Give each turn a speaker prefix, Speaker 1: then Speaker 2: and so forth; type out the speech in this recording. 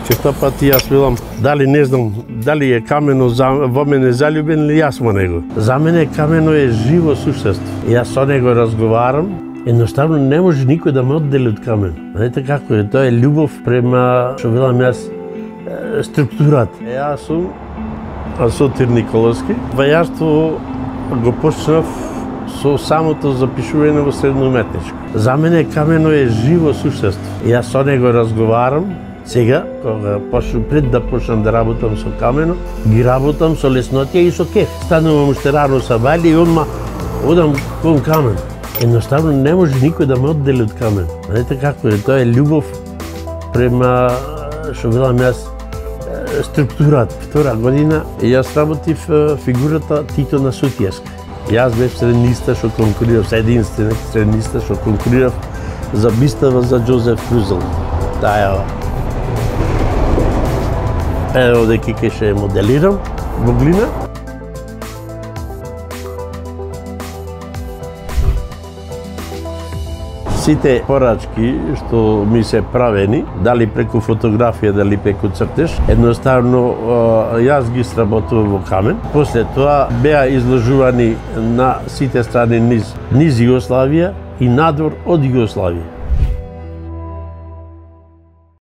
Speaker 1: Често пати јас велам, дали не знам, дали е камено во мене заљубен или јас во него. За мене камено е живо суштество. Јас со него разговарам, едноставно не може никој да ме оддели од камен. Знаете како е, тоа е љубов према, што велам јас, структурата. Јас сум Сотир Николовски. Вајарство го почнав со самото запишување во средно уметничко. За мене камено е живо суштество. Јас со него разговарам. Сега, кога пред да почнам да работам со камено, ги работам со леснотија и со кеф. Станувам уште рано са бали и одма одам кон камен. Едноставно не може никој да ме оддели од камен. Знаете како е, тоа е љубов према, што велам јас, структурата. Втора година јас работив фигурата Тито на Сутијаска. Јас бев средниста што конкурирав, единствен средниста што конкурирав за бистава за Џозеф Крузел. Таја Ево деки ке ше моделирам во глина. Сите порачки што ми се правени, дали преку фотографија, дали преку цртеж, едноставно јас ги сработував во камен. После тоа беа изложувани на сите страни низ Југославија и надвор од Југославија.